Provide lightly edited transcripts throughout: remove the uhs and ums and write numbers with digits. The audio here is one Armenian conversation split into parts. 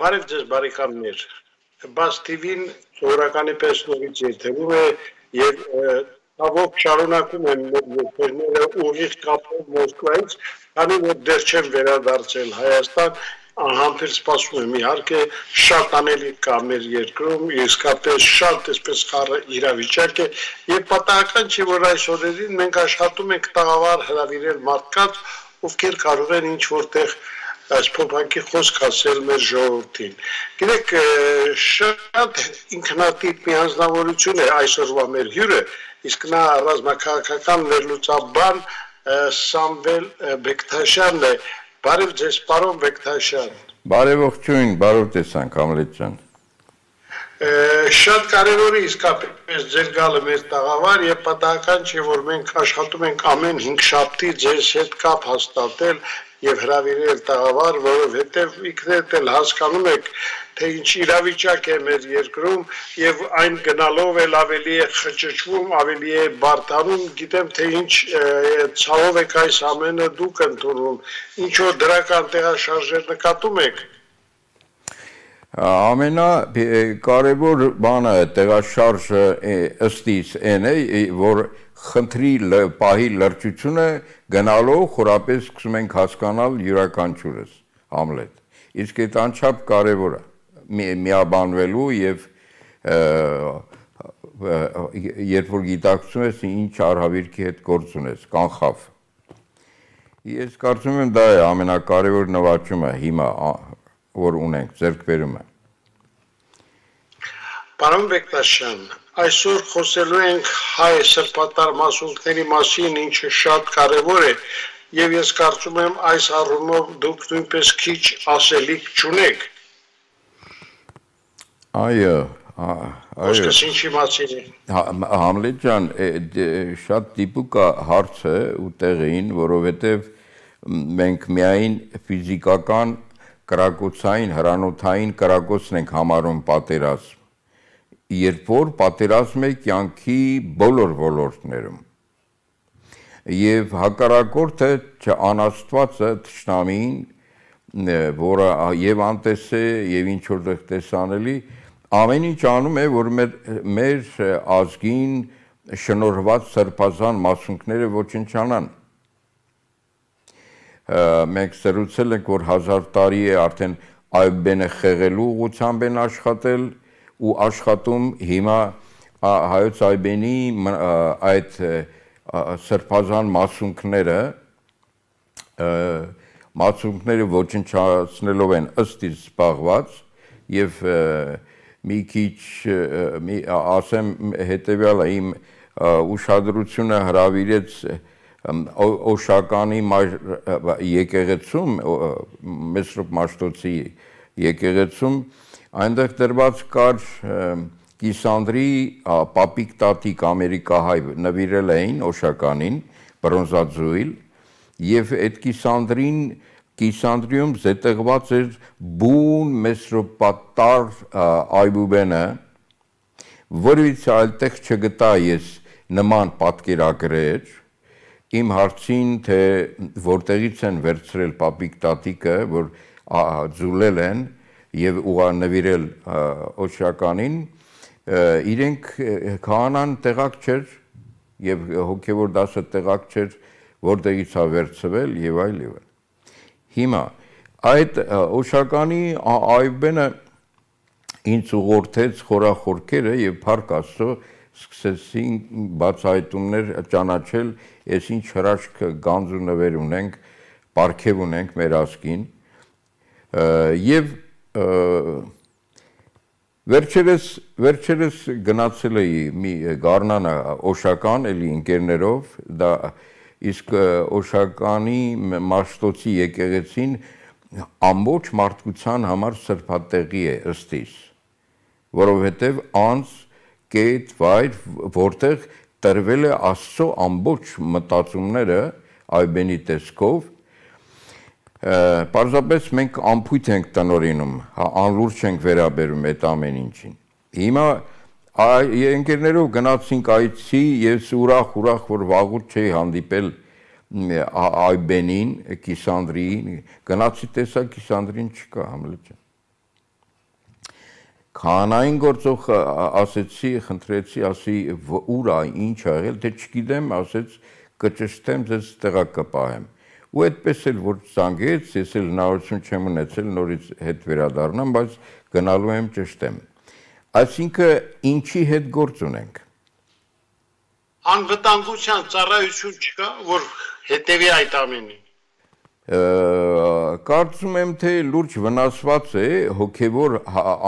Բարև ձեզ բարեկամներ, բաց TV-ն սովորականի պես նորից եթերում է և հավոք շարունակում են եթերները ուղիղ կապով Մոսկվայից, քանի որ դեռ չեն վերադարձել Հայաստան, անհամբեր սպասում եմ իհարկե շատ անելիք կա մեր երկրում, իսկապես շատ այսպես խառը իրավիճակ է և պատահական չի, որ այս օրերին մենք աշխատում ենք տաղավար հրավիրել մարդկանց, ովքեր կարող են ինչ որտեղ այս փոփանքի խոսք ասել մեր ժողովրդին։ Գիտեք, շատ ինքնատիպ մի անձնավորություն է այսօրվա մեր հյուրը, իսկ նա ռազմաքաղաքական վերլուծաբան Սամվել Բեկթաշյանն է։ Բարև ձեզ, պարոն Բեկթաշյան։ Բարևողջույն, բարով տեսանք, Համլետ ջան։ Շատ կարևոր է իսկապես ձեր գալը մեր տաղավար եւ պատահական չէ, որ մենք աշխատում ենք ամեն 5 շաբթի ձեզ հետ կապ հաստատել եւ հրավիրել տաղավար, որովհետեւ ինքներդ էլ հասկանում եք, թե ինչ իրավիճակ է մեր երկրում եւ այն գնալով էլ ավելի է խճճվում, ավելի է բարդանում, գիտեմ թե ինչ ցավով եք այս ամենը դուք ընդունում, ինչ որ դրական տեղաշարժեր նկատում եք։ Ամենակարևոր բանը տեղաշարժը ըստ իս այն է, որ խնդրի պահի լրջությունը գնալով խորապես սկսում ենք հասկանալ յուրաքանչյուրս, Համլետ։ Իսկ այդ անչափ կարևոր է միաբանվելու եւ երբ որ գիտակցում ես ինչ արհավիրքի հետ գործ ունես, կանխավ։ Ես կարծում եմ դա է ամենակարևոր նվաճումը հիմա որ ունենք ձեռքբերումը։ Պարոն Բեկտաշյան, այսօր խոսելու ենք հայ սրբատար մասունքների մասին, ինչը շատ կարևոր է, եւ ես կարծում եմ այս առումով դուք նույնպես քիչ ասելիք չունեք։ Այո, Խոսքս ինչի մասին է։ Համլետ ջան, շատ դիպուկ հարց է ու տեղին, որովհետեւ մենք միայն ֆիզիկական կրակոցային, հրանոթային կրակոցն ենք համարում պատերազմ, երբ որ պատերազմ է կյանքի բոլոր ոլորտներում։ Եվ հակառակորդը անաստվածը թշնամին, որը եւ անտես է եւ ինչ որտեղ տեսանելի, ամեն ինչ անում է, որ մեր ազգին շնորհված սրբազան մասունքները ոչնչանան։ Մենք սրուցել ենք, որ 1000 տարի է արդեն Այբենը խեղելու ուղղությամբ են աշխատել ու աշխատում հիմա հայոց Այբենի այդ սրբազան մասունքները ոչնչացնելով են ըստ իս զբաղված եւ մի քիչ ասեմ հետեւյալը իմ ուշադրությունը հրավիրեց Օշականի եկեղեցում, Մեսրոպ Մաշտոցի եկեղեցում, այնտեղ դրված կար Կիսանդրի պապիկ տատիկ ամերիկահայ նվիրել էին Օշականին, բրոնզաձուիլ, եւ այդ Կիսանդրիում զետեղված էր բուն Մեսրոպատար այբուբենը, որից այլտեղ չգտա ես նման պատկերագրեր, Իմ հարցին, թե որտեղից են վերցրել պապիկ տատիկը, որ ձուլել են եւ ուղանվիրել Օշականին, իրենք քահանան տեղակ չէր եւ հոգեվոր դասը տեղակ չէր, որտեղից է վերցվել եւ այլ եւ այլ։ Հիմա այդ Օշականի այբենը ինձ ուղղորդեց խորախորքերը եւ Փառք Աստծո սկսեցին բացահայտումներ ճանաչել, ես ինչ հրաշք գանձ ու նվեր ունենք, պարգև ունենք մեր ազգին եւ վերջերս գնացել էի մի Գառնանա Օշական էլի ընկերներով, դա իսկ Օշականի Մաշտոցի եկեղեցին ամբողջ մարդկության համար սրբատեղի է ըստ իս, որովհետեւ անց կետ վայր, որտեղ տրվել է Աստծո ամբողջ մտածումները Այբենի տեսքով, պարզապես մենք ամփույթ ենք տնօրինում, անլուրջ ենք վերաբերում այդ ամեն ինչին։ Հիմա ընկերներով գնացինք այցի, ես ուրախ, որ վաղուց չէի հանդիպել Այբենին, Կիսանդրիին, գնացի տեսա Կիսանդրին չկա, Համլետ ջան։ Քանային գործող ասեցի, խնդրեցի, ասի ուր է, ինչ ա եղել, թե չգիտեմ, ասեց կճշտեմ, ձեզ տեղակ կպահեմ։ Ու այդպես էլ որ զանգեց, ես էլ հնարավորություն չեմ ունեցել նորից հետ վերադառնամ, բայց գնալու եմ ճշտեմ։ Այսինքն ինչի հետ գործ ունենք։ Անվտանգության ծառայություն չկա, որ հետևի այդ ամենին։ Կարծում եմ, թե լուրջ վնասված է հոգևոր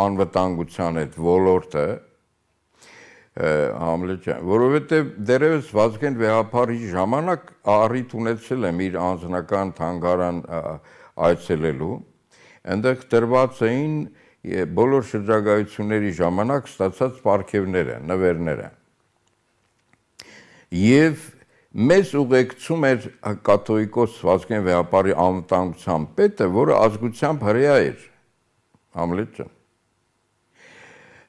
անվտանգության այդ ոլորտը, որովհետև դեռևս Վազգեն Վեհափարի ժամանակ առիթ ունեցել եմ իր անձնական թանգարան այցելելու, այնտեղ տրված էին բոլոր շրջագայությունների ժամանակ ստացած պարգևները, նվերները։ Եվ մեզ ուղեկցում էր կաթողիկոս Վազգեն Վեհափարի անվտանգության պետը, որը ազգությամբ հրեա էր, Համլետ ջան։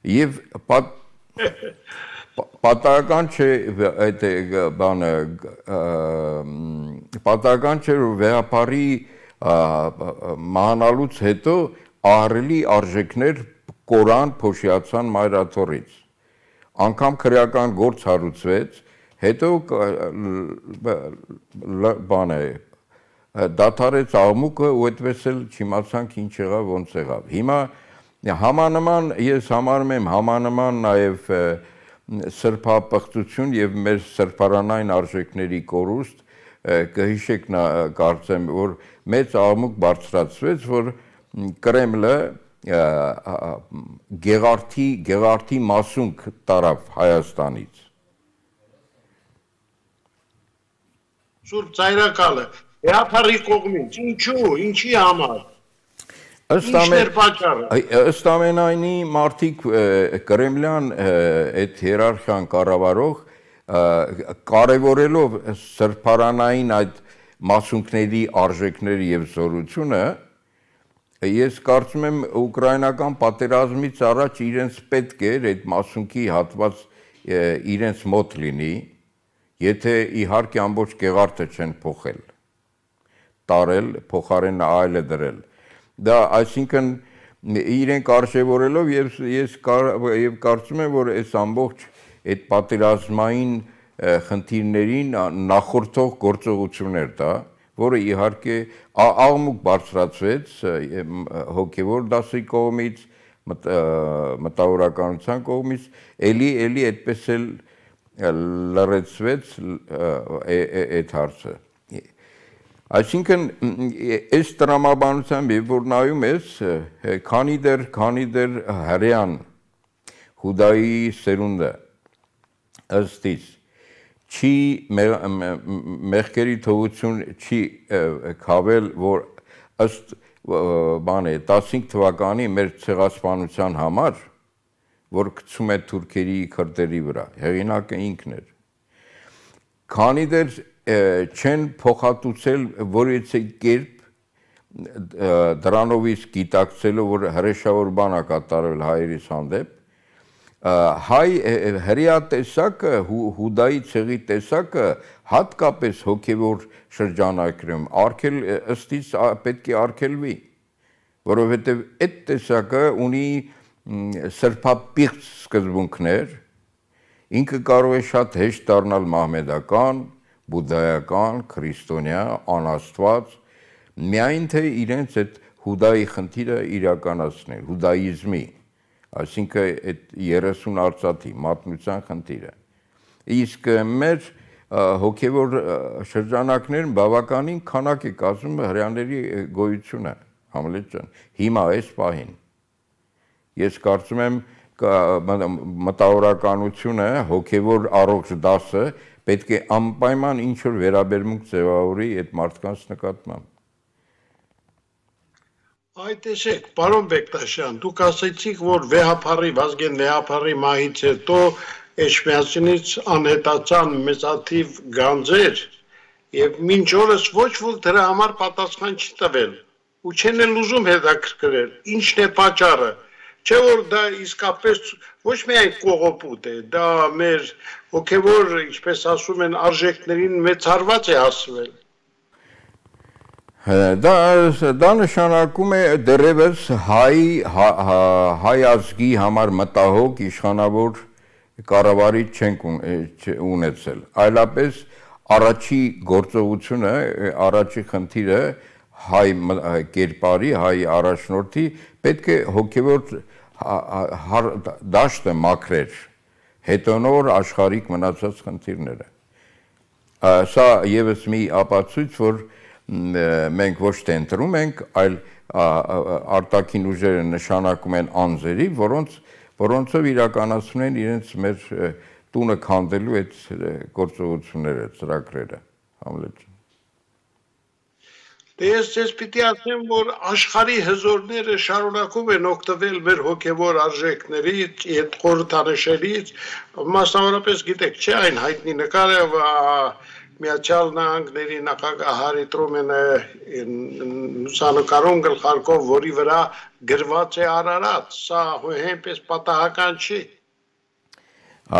Եվ պատահական չէ այդ բանը, պատահական չէ որ Վեհափարի մահանալուց հետո ահռելի արժեքներ կորան փոշիացան մայրաթորից։ Անգամ քրեական գործ հարուցվեց, հետո բան է դադարեց աղմուկը ու այդպես էլ չիմացանք ինչ եղավ, ոնց եղավ։ Հիմա համանման ես համարում եմ համանման նաև սրբապղծություն եւ մեր սրբարանային արժեքների կորուստ կհիշեք կարծեմ որ մեծ աղմուկ բարձրացվեց որ Կրեմլը գեղարդի մասունք տարավ Հայաստանից Սուրբ ծայրակալը Վեհափարի կողմից ինչու ինչի համար Ըստ ամենայնի մարդիկ կրեմլյան այդ հիերարխիան կառավարող կարևորելով սրբարանային այդ մասունքների արժեքների եւ զորությունը ես կարծում եմ ուկրաինական պատերազմից առաջ իրենց պետք էր այդ մասունքի հատված իրենց մոտ լինի եթե իհարկե ամբողջ գեղարդը չեն փոխել տարել փոխարեն այլը դրել Դա այսինքն իրենք արժևորելով ես կարծում եմ որ այս ամբողջ այդ պատերազմային խնդիրներին նախորդող գործողություններ դա որը իհարկե աղմուկ բարձրացվեց հոգևոր դասի կողմից մտավորականության կողմից էլի այդպես էլ լրացվեց այդ հարցը Այսինքն այս տրամաբանությամբ որ նայում ես քանի դեռ հրեան Հուդայի սերունդը ըստից չի մեղքերի թողություն չի քավել որ ըստ բան է 15 թվականի մեր ցեղասպանության համար որ գցում է թուրքերի քրդերի վրա հեղինակը ինքն էր քանի դեռ չեն փոխհատուցել որևէ կերպ դրանովից գիտակցելով որ հրեշավոր բան է կատարվել հայերիս հանդեպ հայ հրեա տեսակը հուդայի ցեղի տեսակը հատկապես հոգևոր շրջանակներում արգել ըստից պետք է արգելվի որովհետև այդ տեսակը ունի սրբապիղծ սկզբունքներ ինքը կարող է շատ հեշտ դառնալ մահմեդական բուդդայական, քրիստոնյա, անաստված, միայն թե իրենց այդ հուդայի խնդիրը իրականացնել, հուդայիզմի, այսինքն այդ 30 արծաթի մատնության խնդիրը։ Իսկ մեր հոգևոր շրջանակներն բավականին քանակ է կազմում հրեաների գոյությունը, Համլետ ջան, հիմա այս պահին։ Ես կարծում եմ մտավորականությունը, հոգևոր առողջ դասը պետք է անպայման ինչ-որ վերաբերմունք ձևավորի այդ մարդկանց նկատմամբ։ Այդ տեսեք, պարոն Բեկտաշյան, դուք ասեցիք, որ Վազգեն Վեհափարի մահից հետո Էջմիածնից անհետացան մեծաթիվ գանձեր եւ մինչ օրս ոչ ոք դրա համար պատասխան չի տվել ու չեն էլ ուզում հետաքրքրել, ինչն է պատճառը Չէ որ դա իսկապես ոչ միայն կողոպուտ է, դա մեր հոգևոր, ինչպես ասում են, արժեքներին մեծ հարված է հասվել։ Դա նշանակում է դեռևս հայ ազգի համար մտահոգ իշխանավոր կառավարիչ չենք ունեցել, այլապես առաջի գործողությունը, առաջի խնդիրը հայ կերպարի, հայ առաջնորդի պետք է հոգևոր դաշտը մաքրեր, հետո նոր աշխարհիկ մնացած խնդիրները։ Սա եւս մի ապացույց, որ մենք ոչ թե ընտրում ենք, այլ արտաքին ուժերը նշանակում են անձերի, որոնցով իրականացնում են իրենց մեր տունը քանդելու այդ գործողությունները, ծրագրերը, Համլետ ջան։ Դե ես ձեզ պիտի ասեմ, որ աշխարհի հզորները շարունակում են օգտվել մեր հոգևոր արժեքներից, այդ խորհրդանշներից, մասնավորապես գիտեք, չէ, այն հայտնի նկարը Միացյալ Նահանգների նախագահ Հարի Տրումենը լուսանկարում գլխարկով, որի վրա գրված է Արարատ, սա հենց պատահական չի։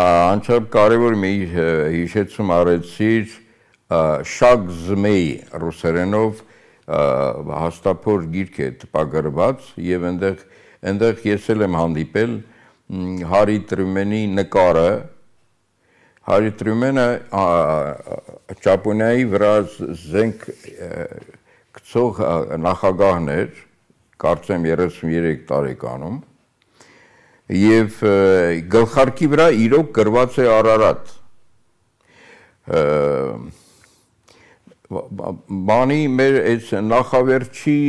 Անչափ կարևոր մի հիշեցում արեցիր Շագ Զմեյ ռուսերենով հաստափոր գիրք է տպագրված եւ այնտեղ ես եմ հանդիպել Հարի Տրումենի նկարը Հարի Տրումենը Ճապոնիայի վրա զենք գցող նախագահն էր, կարծեմ 33 տարեկանում, եւ գլխարկի վրա իրոք գրված է Արարատ։ Բանի մեր այս նախավերջի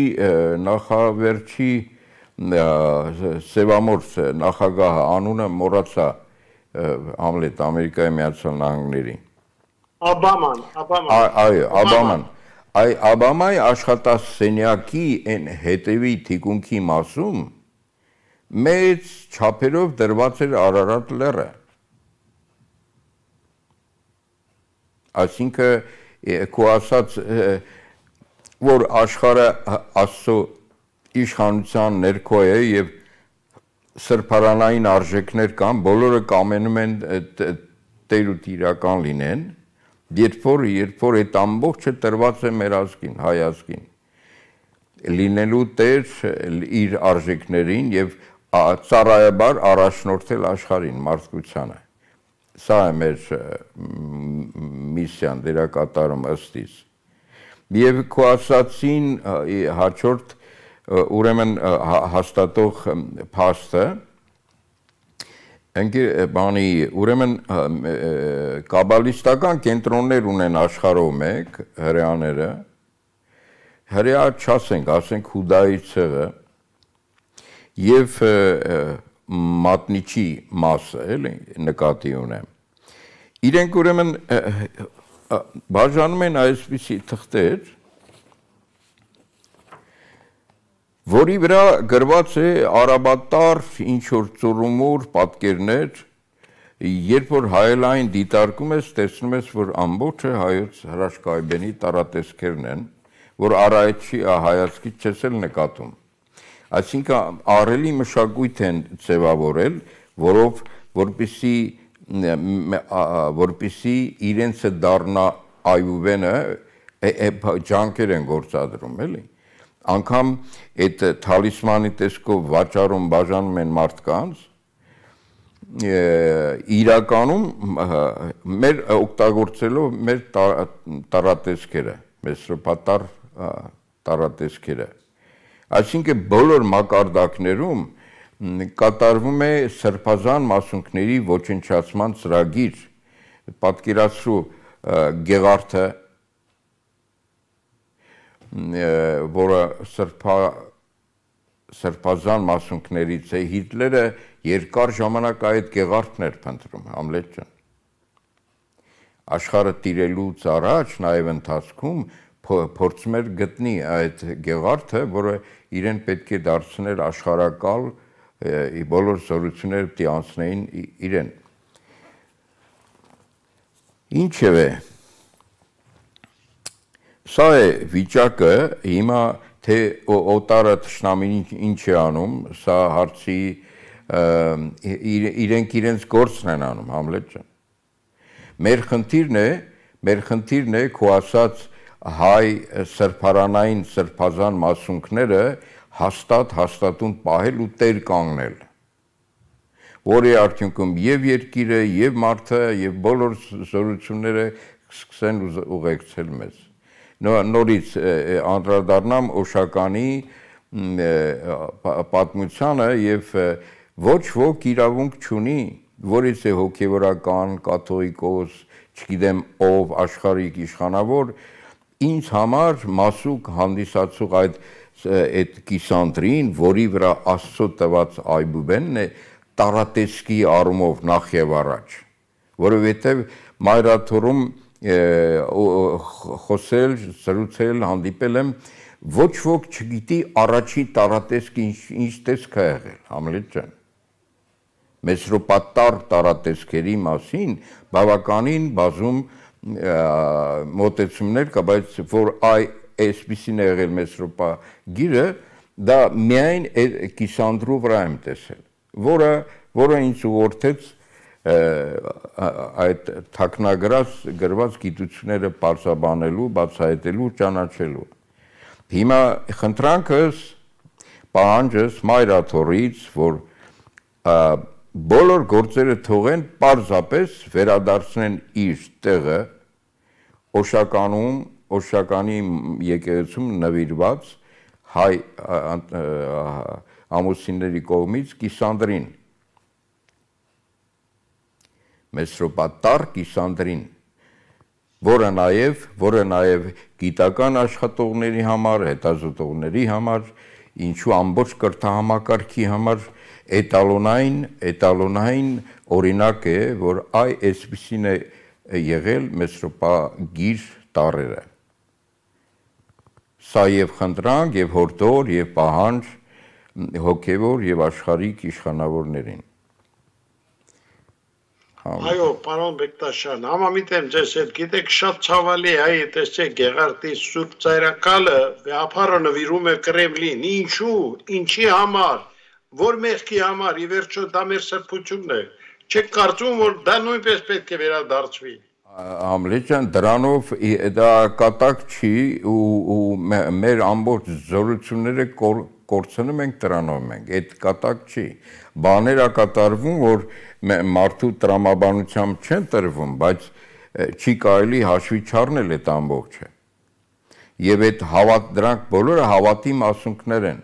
սևամորձ նախագահը անունը մոռացա Համլետ Ամերիկայի Միացյալ Նահանգների Օբաման Օբաման Օբամայի աշխատասենյակի այն հետևի թիկունքի մասում մեծ չափերով դրված էր Արարատ լեռը այսինքն քո ասած որ աշխարհը Աստծո իշխանության ներքո է եւ սրբարանային արժեքներ կան, բոլորը կամենում են տեր ու տիրական լինեն, երբ որ այդ ամբողջը տրված է մեր ազգին, հայ ազգին, լինելու տեր իր արժեքներին եւ ծառայաբար առաջնորդել աշխարհին, մարդկությանը։ Սա է մեր միսիան, դերակատարում ըստիս։ Եվ քո ասացին հաջորդ ուրեմն հաստատող փաստը բանի ուրեմն կաբալիստական կենտրոններ ունեն աշխարհով մեկ հրեաները հրեա չասենք, ասենք Հուդայի ցեղը եւ մատնիչի մասը, էլի նկատի ունեմ։ Իրենք ուրեմն բաժանում են այսպիսի թղթեր որի վրա գրված է արաբատար ինչ-որ ծուրումուր պատկերներ, երբ որ հայելային դիտարկում ես, տեսնում ես, որ ամբողջը հայոց հրաշքայբենի տարատեսքերն են, որ առայցի հայացքից չես էլ նկատում։ Այսինքն ահռելի մշակույթ են ձևավորել, որպեսզի իրենցը դառնա այուվենը, ջանքեր են գործադրում, էլի։ Անգամ այդ թալիսմանի տեսքով վաճառում բաժանում են մարդկանց, իրականում մեր օգտագործելով մեր տարատեսքերը, մեր սրբատար տարատեսքերը։ Այսինքն բոլոր մակարդակներում կատարվում է սրբազան մասունքների ոչնչացման ծրագիր, պատկերացրու Գեղարդը որը սրբազան մասունքներից է, Հիտլերը երկար ժամանակ այդ Գեղարդն էր փնտրում, Համլետ ջան։ Աշխարհը տիրելուց առաջ նաև ընթացքում փորձում էր գտնի այդ Գեղարդը, որը իրեն պետք է դարձնել աշխարհակալ, բոլոր զորությունները պիտի անցնեին իրեն։ Ինչևէ Սա է վիճակը, հիմա թե օտարը թշնամին ինչ է անում, սա հարցի իրենց գործն են անում, Համլետ ջան։ Մեր խնդիրն է քո ասած հայ սրբարանային սրբազան մասունքները հաստատուն պահել ու տեր կանգնել, որի արդյունքում եւ երկիրը, եւ մարդը, եւ բոլոր զորությունները սկսեն ուղեկցել մեզ։ Նորից անդրադառնամ Օշականի պատմությանը եւ ոչ ոք իրավունք չունի, որից է հոգեվորական, կաթողիկոս, չգիտեմ ով, աշխարհիկ իշխանավոր, ինձ համար մասուկ հանդիսացող այդ կիսանդրին, որի վրա Աստծո տված այբուբենն է, տարատեսկի առումով նախ եւ առաջ, որովհետեւ մայրաթորում խոսել, զրուցել, հանդիպել եմ, ոչ ոք չգիտի առաջի տարատեսկը ինչ տեսք է եղել, Համլետ ջան։ Մեսրոպատար տարատեսքերի մասին բավականին բազում մոտեցումներ կա, բայց որ այսպիսին է եղել Մեսրոպագիրը, դա միայն կիսանդրու վրա եմ տեսել, որը ինձ ուղղորդեց այդ թաքնագրված գիտությունները պարզաբանելու, բացահայտելու, ճանաչելու։ Հիմա խնդրանքս, պահանջս մայրաթորից, որ բոլոր գործերը թողեն պարզապես վերադարձնեն իր տեղը Օշականի եկեղեցում նվիրված հայ ամուսինների կողմից կիսանդրին, Մեսրոպատար կիսանդրին, որը նաև գիտական աշխատողների համար, հետազոտողների համար, ինչու ամբողջ կրթահամակարգի համար էտալոնային օրինակ է, որ այսպիսին է եղել Մեսրոպագիր տառերը։ Սա եւ խնդրանք, եւ հորդոր, եւ պահանջ հոգեվոր եւ աշխարհիկ իշխանավորներին։ Այո, պարոն Բեկտաշյան, համամիտ եմ ձեզ հետ, գիտեք, շատ ցավալի է, տեսեք, Գեղարդի Սուրբ Ծայրակալը վեհապարը նվիրում է Կրեմլին, ինչի համար, որ մեղքի համար, ի վերջո դա մեր սրբությունն է, չեք կարծում, որ դա նույնպես պետք է վերադարձվի։ Համլետ ջան, դրանով դա կատակ չի ու մեր ամբողջ զորությունները կորցնում ենք դրանով մենք, այդ կատակ չի։ Բաներ ա կատարվում, որ մարդու տրամաբանությամբ չեն տրվում, բայց չի կարելի հաշվի չառնել այդ ամբողջը։ Եվ այդ դրանք բոլորը հավատի մասունքներ են։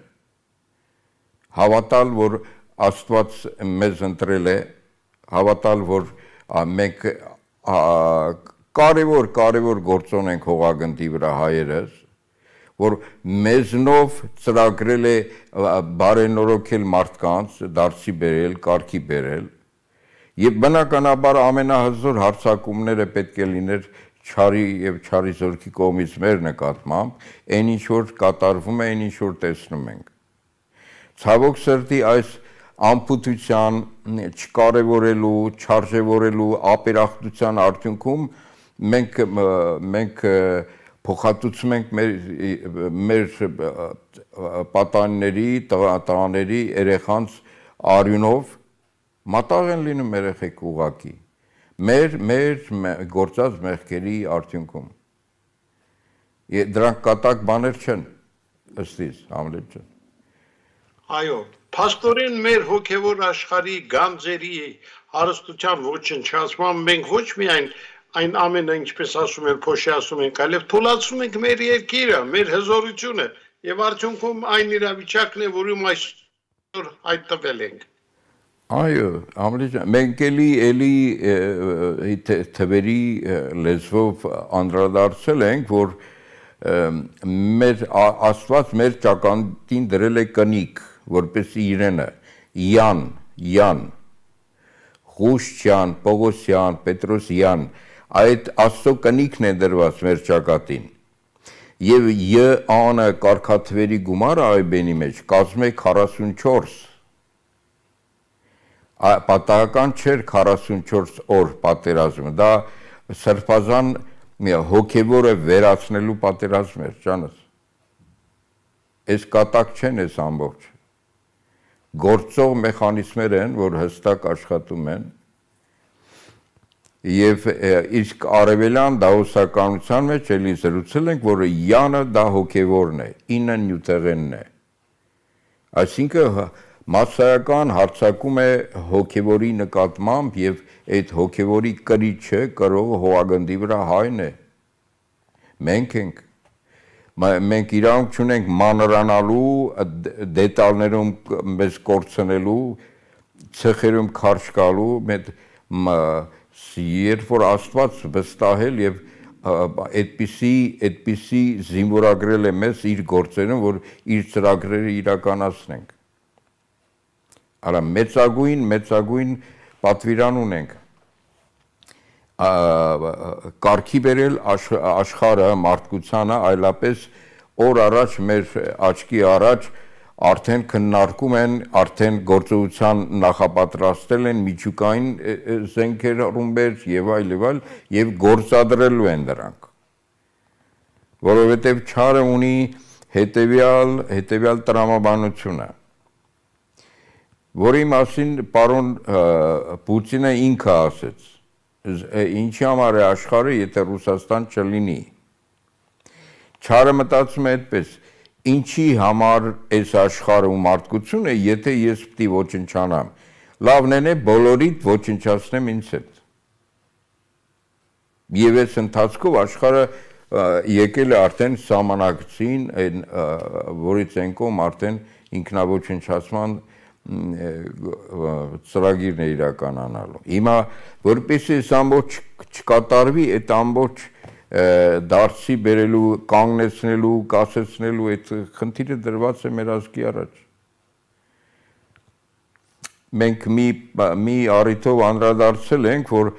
Հավատալ, որ Աստված մեզ ընտրել է, հավատալ, որ մենք կարևոր գործոն ենք հողագնդի վրա հայերս, որ մեզնով ծրագրել է բարենորոգել մարդկանց, դարձի բերել, կարգի բերել, եւ բնականաբար ամենահզոր հարձակումները պետք է լիներ չարի եւ չարի զորքի կողմից մեր նկատմամբ, այն ինչ որ կատարվում է, այն ինչ որ տեսնում ենք։ Ցավոք սրտի այս անփութության, չկարևորելու, չարժևորելու ապերախտության արդյունքում մենք փոխհատուցում ենք մեր պատանիների, տղաների, երեխանց արյունով, մատաղ են լինում երեխեք ուղակի, մեր գործած մեղքերի արդյունքում։ Դրանք կատակ բաներ չեն, ըստիս, Համլետ ջան։ Այո, փաստորեն մեր հոգևոր աշխարհի գանձերի հարստության ոչնչացման մենք ոչ միայն այն ամենը, ինչպես ասում են, փոշի ասում ենք, այլև թույլատրում ենք մեր երկիրը, մեր հզորությունը եւ արդյունքում այն իրավիճակն է, որում այսօր հայտնվել ենք։ Այո, Համլետ ջան, մենք էլի թվերի լեզվով անդրադարձել ենք, որ Աստված մեր ճակատին դրել է կնիկ, որպես իրենը, Յան, Ղուշչյան, Պողոսյան, Պետրոսյան, այդ Աստծո կնիկն է դրված մեր ճակատին։ Եվ յ-անը կարգաթվերի գումարը այբենի մեջ կազմում է 44։ Պատահական չէր 44 օր պատերազմը, դա սրբազան հոգևորը վերացնելու պատերազմ էր, ջանս։ Այս կատակ չեն այս ամբողջ։ Գործող մեխանիզմներ են, որ հստակ աշխատում են։ Եվ իսկ արևելյան դահոսականության մեջ էլի զրուցել ենք, որ յանը դա հոգևորն է, ինը նյութեղենն է։ Այսինքն մասսայական հարձակում է հոգևորի նկատմամբ եւ այդ հոգևորի կրիչը կրողը հողագնդի վրա հայն է։ Մենք իրավունք չունենք մանրանալու, դետալներում մեզ կորցնելու, ցեխերում քարշ գալու, երբ որ Աստված վստահել եւ այդպիսի զինվորագրել է մեզ իր գործերում, որ իր ծրագրերը իրականացնենք։ Արա մեծագույն պատվիրան ունենք կարգի բերել աշխարհը, մարդկությանը, այլապես օր առաջ մեր աչքի առաջ արդեն քննարկում են, արդեն գործողության նախապատրաստել են միջուկային զենքեր, ռումբեր եւ այլ եւ գործադրելու են դրանք։ Որովհետեւ չարը ունի հետեւյալ տրամաբանությունը, որի մասին պարոն Պուտինը ինքը ասեց, ինչի համար է աշխարհը, եթե Ռուսաստան չլինի։ Չարը մտածում է այդպես. ինչի համար այս աշխարհը ու մարդկությունը, եթե ես պիտի ոչնչանամ, լավն է բոլորիդ ոչնչացնեմ ինձ հետ։ Եվ այս ընթացքով աշխարհը եկել է արդեն սահմանակցին, որից ենկում արդեն ինքնաոչնչացման ծրագիրն է իրականանալու։ Հիմա որպեսզի այս ամբողջ չկատարվի, այդ ամբողջ դարձի բերելու, կանգնեցնելու, կասեցնելու այդ խնդիրը դրված է մեր ազգի առաջ։ Մենք մի առիթով անդրադարձել ենք, որ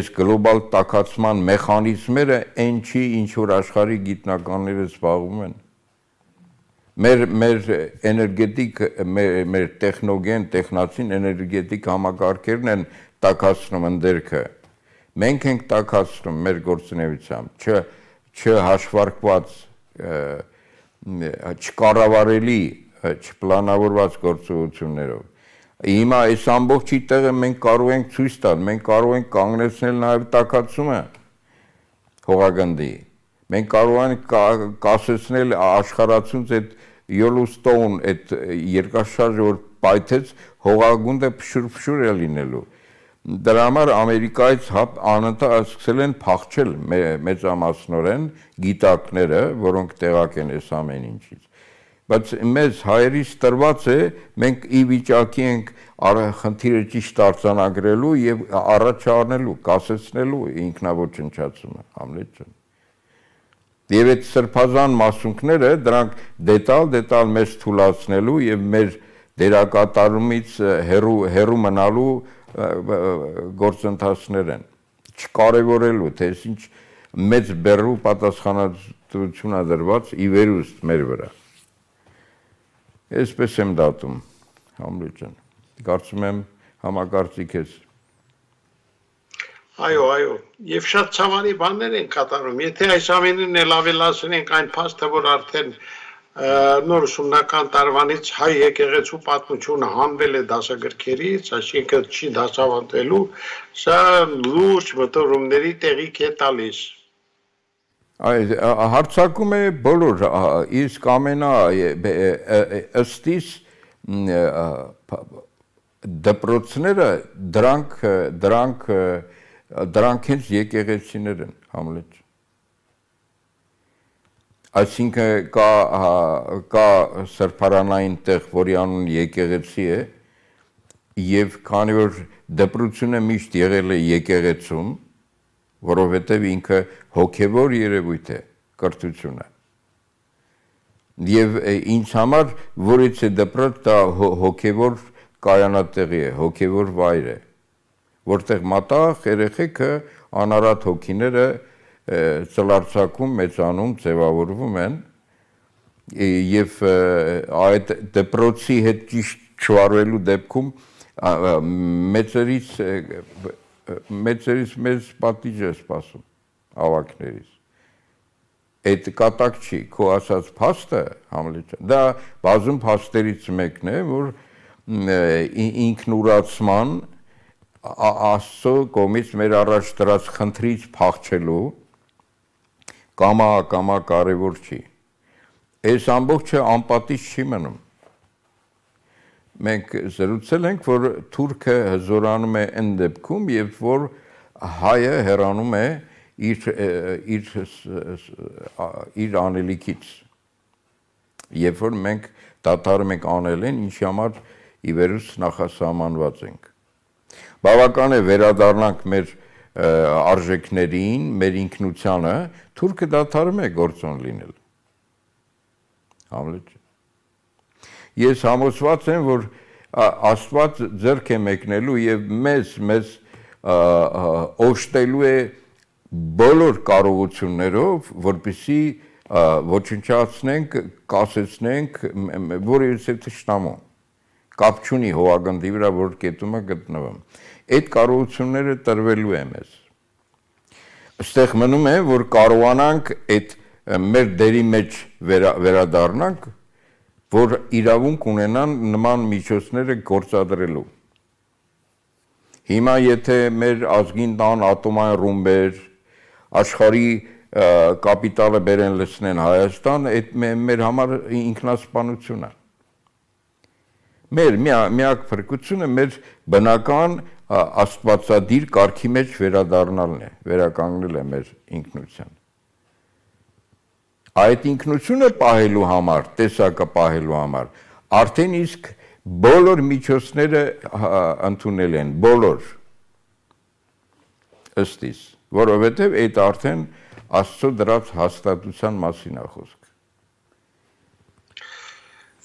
այս գլոբալ տաքացման մեխանիզմերը այն չի, ինչ որ աշխարհի գիտնականները զբաղվում են։ Մեր էներգետիկ, մեր տեխնոգեն, տեխնացին էներգետիկ համակարգերն են տաքացնում ընդերքը։ Մենք ենք տաքացնում մեր գործունեությամբ, չհաշվարկված, չկառավարելի, չպլանավորված գործողություններով։ Հիմա այս ամբողջի տեղը մենք կարող ենք ցույց տալ, մենք կարող ենք կանգնեցնել նաև տաքացումը հողագնդի։ Մենք կարող ենք կասեցնել աշխարհացունց այդ Yellowstone, այդ երկրաշարժը որ պայթեց, հողագունդը փշուր է լինելու։ Դրա համար Ամերիկայից անընդհատ սկսել են փախչել մեծամասնորեն գիտակները, որոնք տեղակ են այս ամեն ինչից։ Բայց մեզ հայերից տրված է, մենք ի վիճակի ենք խնդիրը ճիշտ արձանագրելու եւ առաջարնելու, կասեցնելու ինքնաոչնչացումը, Համլետ ջան։ Եվ այդ սրբազան մասունքները դրանք դետալ մեզ թուլացնելու եւ մեր դերակատարումից հերու մնալու գործընթացներ են, չկարևորելու, թե ինչ մեծ բեռու պատասխանատվություն է դրված ի վերուստ մեր վրա։ Այսպես եմ դատում, Համլետ ջան, կարծում եմ համակարծիք ես։ Այո, եւ շատ ցավալի բաներ են կատարում, եթե այս ամենին էլ ավելացնենք այն փաստը, որ արդեն նոր ուսումնական տարվանից հայ եկեղեցու պատմությունը հանվել է դասագրքերից, այսինքն չի դասավանդվելու, սա լուրջ մտորումների տեղիք է տալիս։ Հարցակում է բոլոր, իսկ ըստիս դպրոցները դրանք հենց եկեղեցիներ են, Համլետ։ Այսինքն կա սրբարանային տեղ, որի անուն եկեղեցի է, եւ քանի որ դպրությունը միշտ եղել է եկեղեցում, որովհետեւ ինքը հոգեվոր երևույթ է, կրթությունը։ Եվ ինձ համար որից է դպրոց, դա հոգեվոր կայանատեղի է, հոգեվոր վայր է, որտեղ մատաղ երեխեքը անարատ հոգիները ծլարձակում, մեծանում, ձևավորվում են եւ այդ դպրոցի հետ ճիշտ չվարվելու դեպքում մեծերից մեծ պատիժ է սպասում ավակներից։ Այդ կատակ չի, քո ասած փաստը, Համլետ, դա բազում փաստերից մեկն է, որ ինքնուրացման Աստծո կողմից մեր առաջ դրած խնդրից փախչելու կամա կարևոր չի։ Այս ամբողջը անպատիժ չի մնում։ Մենք զրուցել ենք, որ թուրքը հզորանում է այն դեպքում, երբ որ հայը հեռանում է իր անելիքից, երբ որ մենք դադարում ենք անել են, ինչի համար ի վերուս նախասահմանված ենք։ Բավական է վերադառնանք մեր արժեքներին, մեր ինքնությանը, թուրքը դադարում է գործոն լինել։ Համլետ։ Ես համոզված եմ, որ Աստված ձեռք է մեկնելու եւ մեզ օժտելու է բոլոր կարողություններով, որպեսզի ոչնչացնենք, կասեցնենք որևէ թշնամու։ Կապ չունի հողագնդի վրա, որ կետում է գտնվում։ Այդ կարողությունները տրվելու է մեզ։ Այստեղ մնում է, որ կարողանանք այդ մեր դերի մեջ վերադառնանք, որ իրավունք ունենան նման միջոցները գործադրելու։ Հիմա եթե մեր ազգին տան ատոմային ռումբեր, աշխարհի կապիտալը բերեն լցնեն Հայաստան, այդ մեր համար ինքնասպանություն է։ Մեր միակ փրկությունը մեր բնական աստվածադիր կարգի մեջ վերադառնալն է, վերականգնել է մեր ինքնության։ Այդ ինքնությունը պահելու համար, տեսակը պահելու համար, արդեն իսկ բոլոր միջոցները ընդունել են, բոլոր ըստիս, որովհետև այդ արդեն Աստծո դրած հաստատության մասին է խոսք։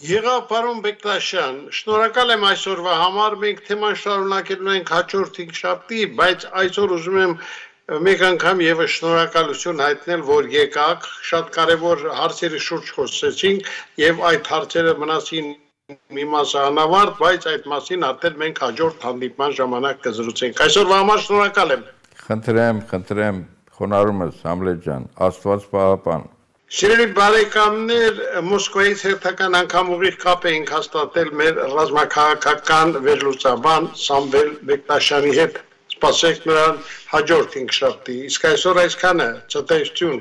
Եղավ պարոն Բեկտաշյան, շնորհակալ եմ այսօրվա համար, մենք թեման շարունակելու ենք հաջորդ հինգշաբթի, բայց այսօր ուզում եմ մեկ անգամ եւս շնորհակալություն հայտնել, որ եկաք, շատ կարևոր հարցերի շուրջ խոսեցինք եւ այդ հարցերը մնացին մի մասը անավարտ, բայց այդ մասին արդեն մենք հաջորդ հանդիպման ժամանակ կզրուցենք։ Այսօրվա համար շնորհակալ եմ։ Խնդրեմ, խոնարհումս Համլետ ջան, Աստված պահապան։ Սիրելի բարեկամներ, Մոսկվայից հերթական անգամ ուղիղ կապ էինք հաստատել մեր ռազմաքաղաքական վերլուծաբան Սամվել Բեկտաշյանի հետ։ Սպասեք նրան հաջորդ հինգշաբթի։ Իսկ այսօր այսքանը, ցտեսություն։